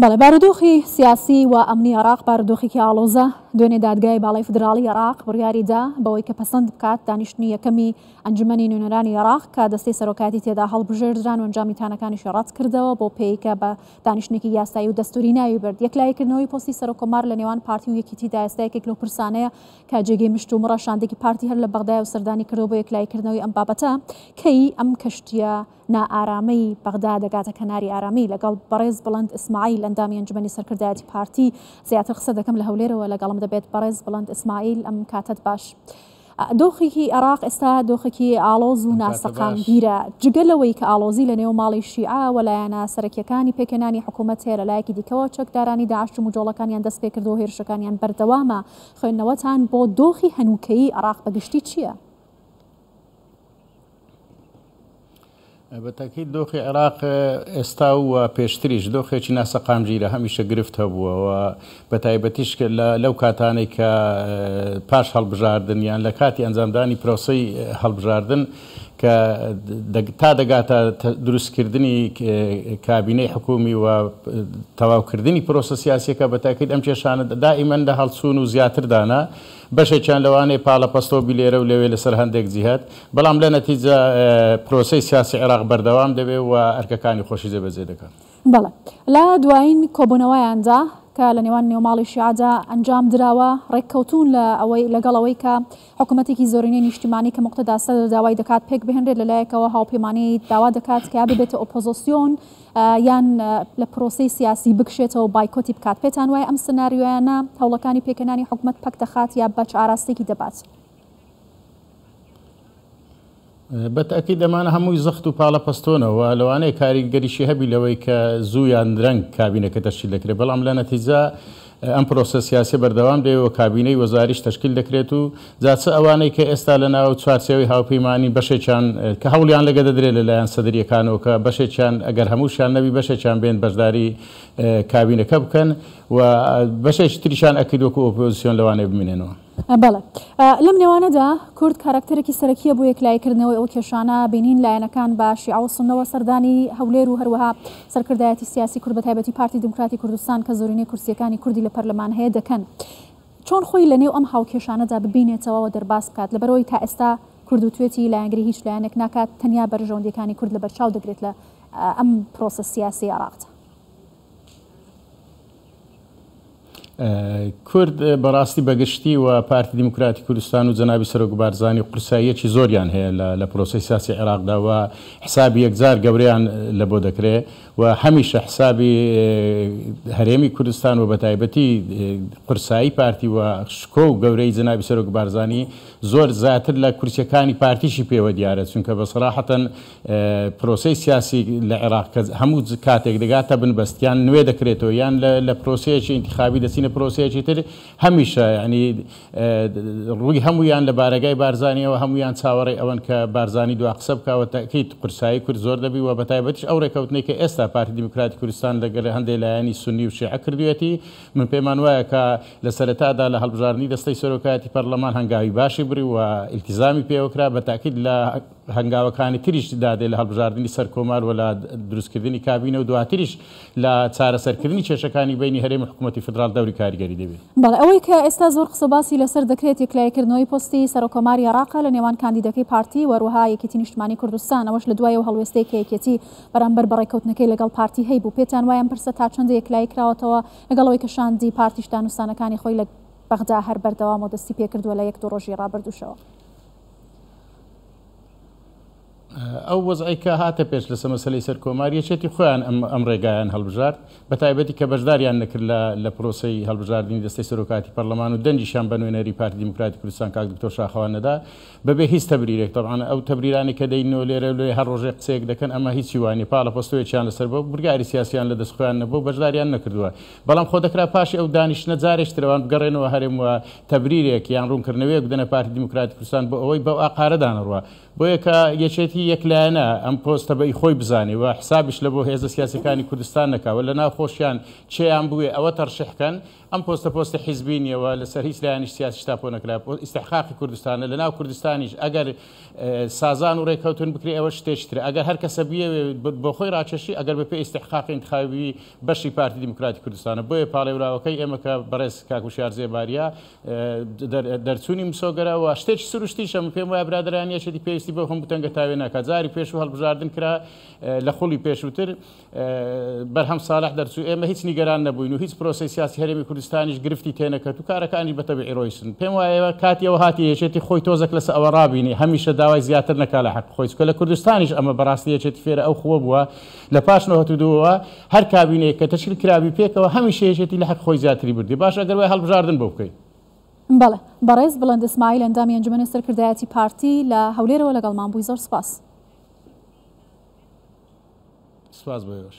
بەڵێ بارودۆخی سیاسی و ئەمنی عێراق بارودۆخێکی ئاڵۆزە، دوێنێ دادگای باڵای فیدراڵی عێراق بڕیاری دا بەوەی کە پەسەند بکات دانیشتنی یەکەمی ئەنجومەنی نوێنەرانی عێراق کە دەستەی سەرۆکایەتی تێدا هەڵبژێردران و ئەنجامی تانەکانیشی ڕەت کردەوە بۆ پێی کە بە دانیشتنێکی یاسایی و دەستوری ناوی برد. یەکلاییکردنەوەی پۆستی سەرۆککۆمار لە نێوان پارتی و یەکیتیدا ئێستا یەکێک لەو پرسانەیە کە جێگەی مشتومڕە، شاندێکی پارتی هەر لە بەغدایەوە سەردانی کردووە بۆ یەکلاییکردنەوەی ئەم بابەتە، کەی ئەم کەشتییە نائارامی بەغدا دەگاتە کەناری ئارامی. لەگەڵ بەڕێز بڵند ئیسماعیل ئەندامی ئەنجومەنی سەرکردایەتی پارتی زیاتر قسە دەکەم لە هەولێرەوە لەگەڵم دەبێت. بەڕێز بڵند ئیسماعیل ئەم کاتەت باش. دۆخێکی عێراق ئێستا دۆخێکی ئاڵۆز و ناسەقامگیرە، جگە لەوەی کە ئاڵۆزی لە نێو ماڵی شیعە و لایەنە سەرەکییەکانی پێکهێنانی حکوومەت هەیە، لە لایەکی دیکەوە چەکدارانی داعش جموجۆڵەکانیان دەست پێکردووە و هێرشەکانیان بەردەوامە. خوێندنەوەتان بۆ دۆخی هەنووکەیی عێراق بە گشتی چییە؟ بە تاکید دۆخی عێراق ئێستا و پێشتریش دۆخێکی ناسەقامگیرە، هەمیشە گرفت هەبووە و بە تایبەتیش لەو کاتانەی کە پاش هەڵبژاردن یان لە کاتی ئەنجامدانی پرۆسەی هەڵبژاردن کە تا دەگاتە دروستکردنی کابینەی حکومی و تەواوکردنی پرۆسە سیاسیەکە بە تاکید ئەم کێشانە دائیمەن لە هەڵچوون و زیاتردانە. بەشێکیان لەوانەیە پاڵەپەستۆ بی لێرە و لەوێ لەسەر هەندێک جیهەت، بەڵام لە نەتیجە پرۆسەی سیاسی عێراق بەردەوام دەبێ و ئەرکەکانی خۆشی جێبەجێ دەکات. بەڵێ. لە دوایین کۆبوونەوەیاندا کە لە نێوان نێوماڵی شیعەدا ئەنجام دراوە، ڕێککەوتوون لە ئەوەی لەگەڵ ئەوەی کە حکوومەتێکی زۆرینەی نیشتیمانی کە موقتەدا سەدر داوای دەکات پێک بهێنرێت، لە لایەکەوە هاوپەیمانی داوا دەکات کە یا ببێتە ئۆپۆزۆسیۆن یان لە پرۆسەی سیاسی بکشێتەوە و بایکۆتی بکات، پێتان وایە ئەم سناریۆیانە هەوڵەکانی پێکهێنانی حکومەت پەک دەخات یا بە چ ئاراستەیەکی دەبات؟ بە تەئکید ئەمانە هەمووی زەخت و پاڵەپەستۆنە و لەوانەیە کاریگەریشی هەبی لەوەی کە زوو یان درەنگ کابینەکە تەشکیل دەکرێت، بەڵام لە نەتیجە ئەم پرۆسە سیاسیە بەردەوام دەبێت و کابینەی وەزاریش تەشکیل دەکرێت و جا چ ئەوانەی کە ئێستا لە ناو چوارچێوەی هاوپەیمانین بەشێکیان کە هەوڵیان لەگە دەدرێت لە لایەن سەدریەکانەوە کە بەشێکیان ئەگەر هەمووشیان نەبی بەشێکیان بێن بەشداری کابینەکە بکەن و بەشێکی تریشان ئەکید وەکو ئۆپۆزیسیۆن لەوانەیە بمینێنەوە. بەڵێ. لەم نێوانەدا کورد کاراکتەرێکی سەرەکییە بۆ یەکلاییکردنەوەی ئەو کێشانە، بینین لایەنەکان بە شیعە و سوننەوە سەردانی هەولێر و هەروەها سەرکردایەتی سیاسی کورد بەتایبەتی پارتی دیموکراتی کوردستان کە زۆرینەی کورسییەکانی کوردی لە پەرلەمان هەیە دەکەن. چۆن خۆی لەنێو ئەم هاوکێشانەدا ببینێتەوە و دەرباز بکات؟ لەبەرئەوەی تا ئێستا کورد وتوێتی لایەنگری هیچ لایەنێک ناکات، تەنیا بەرژەوەندییەکانی کورد لەبەرچاو دەگرێت لە ئەم پرۆسە سیاسیەی عێراقدا. کورد بەڕاستی بەگشتی و پارتی دیموکراتی کوردستان و جەنابی سەرۆک بارزانی قورساییەکی زۆریان هەیە لە پرۆسەی سیاسی عێراقدا و حسابی یەکجار گەورەیان لە بۆ دەکرێ و هەمیشە حسابی هەرێمی کوردستان و بەتایبەتی قورسایی پارتی و شکۆ و گەورەی جەنابی سەرۆک بارزانی زۆر زیاتر لە کورسیەکانی پارتیشی پێوە دیارە چونکە بە سەراحەتەن پرۆسەی سیاسی لە عێراق کە هەموو کاتێک دەگاتە بنبەست یان نوێ دەکرێتەوە یان لە پرۆسەیەکی ئینتخابی دەچینە پرۆسەیەکی تر هەمیشە یعنی ڕووی هەموویان لە بارەگای بارزانیەوە هەموویان چاوەڕێی ئەوەن کە بارزانی دوا قسە بکا و تەئکید قورسایی کورد زۆر دەبی و بەتایبەتیش ئەو ڕێکەوتنەی کە ئێستا پارتی دیموکراتی کوردستان لەگەل هەندێ لایەنی سوننی و شیعە کردوویەتی من پێمان وایە کە لە سەرەتادا لە هەڵبژاردنی دەستەی سەرۆکایەتی پەرلەمان هەنگاوی باشی بڕی و ئیلتیزامی پێوە کرا بە تەئکید لە هەنگاوەکانی تریش دادێ لە هەڵبژاردنی سەرکۆمار و لە دروستکردنی کابینە و دواتریش لە چارەسەرکردنی کێشەکانی بەینی هەرێم و حکوومەتی فیدراڵ دەوری کاریگەری دەبێ. بەڵێ، ئەوەی کە ئێستا زۆر قسە و باسی لەسەر دەکرێت یەکلاییکردنەوەی پۆستی سەرۆککۆماری عێراقە لە نێوان کاندیدەکەی پارتی و هەروەها یەکێتی نیشتمانی کوردستان، ئەوەش لە دوای ئەو هەڵوێستەی کە یەکێتی بەرامبەر بە ڕێککەوتنەکەی لەگەڵ پارتی هەیبوو. پێتان وایە ئەم پرسە تا چەندە یەکلایی کراوەتەوە لەگەڵ ئەوەی کە شاندی پارتیش دانوستانەکانی خۆی لە بەغدا هەر بەردەوامە و دەستی پێکردووە لە یەک دوو ڕۆژی ڕابردووشەوە؟ ئەو وەزعەی کە هاتە پێش لەسەر مەسەلەی سەرکۆمار، یەکێتی خۆیان ئەم ڕێگایان هەڵبژارد، بەتایبەتی کە بەشداریان نەکرد لە پرۆسەی هەڵبژاردنی دەستەی سەرۆکایەتی پەرلەمان و دەنگیشیان بە نوێنەری پارتی دیموکراتی کوردستان کاک دکتۆر شاخەوان نەدا بەبێ هیچ تەبریرێک. تەبعەن ئەو تەبریرانەی کە دەینەوە لێرە و لەوێ هەر ڕۆژێک قسەیەک دەکەن ئەمە هیچی وا نییە، پاڵەپەستۆیەکیان لەسەر بووە، بڕیاری سیاسیان لە دەست خۆیان نەبووە و بەشداریان نەکردووە. بەڵام خۆ دەکرا پاشی ئەو دانیشتنە جارێکی تر ئەوان بگەڕێنەوە هەرێم و تەبریرێک یان ڕوونکردنەوەیەک بدەنە پارتی دیموکراتی کوردستان بۆ ئەوەی بەو ئاقارەدا نەڕوا. بۆیە کە یەکێتی یەک لایەنە ئەم پۆستە بە ئی خۆی بزانێ و حسابیش لە بۆ هێزە سیاسیەکانی کوردستان نەکا و لە ناو خۆشیان چێیان بوێ ئەوە تەرشیح کەن، ئەم پۆستە پۆستی حیزبی نیە و لەسەر هیچ لایەنیش سیاسیش تاپۆ نەکرا، ئیستحقاقی کوردستانە، لە ناو کوردستانیش ئەگەر سازان و رێککەوتن بکرێ ئەوە شتێکی ترە، ئەگەر هەر کەسە بیەوێ بۆ خۆی راکێشی ئەگەر بە پێی ئیستحقاقی ئینتخابی بەشی پارتی دیموکراتی کوردستانە، بۆیە پاڵێوراوەکەی ئێمە کە بەڕێز کاک وشیار زێباریە دەرچوونی مسۆگەرە و شتێکی سروشتیشە، من پێم وایە برادەرانی یەکێتی پێویستی بەو هەموو تەنگەتاوێ ناکات، جاری پێشوو هەڵبژاردن کرا لە خولی پێشووتر بەرهەم ساڵح دەرچوو، ئێمە هیچ نیگەران نەبووین و هیچ پرۆسەی سیاسی هەرێمی کوردستانیش گرفتی تێنەکەت و کارەکانیش بە تەبیعی ڕۆیشتن. پێم وایە کاتی ئەوە هاتیە یەکێتی خۆی تۆزێک لەسەر ئەوە ڕابینێ، هەمیشە داوای زیاتر نەکا لە حەقی خۆی، چونکە لە کوردستانیش ئەمە بەڕاستی یەکێتی فێرە ئەو خووە بووە لە پاش 92 ەوە هەر کابینەیەک کە تەشکیل کرابی پێکەوە هەمیشە یەکێتی لە حەقی خۆی زیاتری بردیە. باشە ئەگەر وایە هەڵبژاردن بۆ بکەین. بەڵێ. بەڕێز بڵند ئیسماعیل ئەندامی ئەنجومەنی سەرکردایەتی پارتی لە هەولێرەوە لەگەڵمان بووی زۆر سوپاس. سپاس بۆ ئێوەش.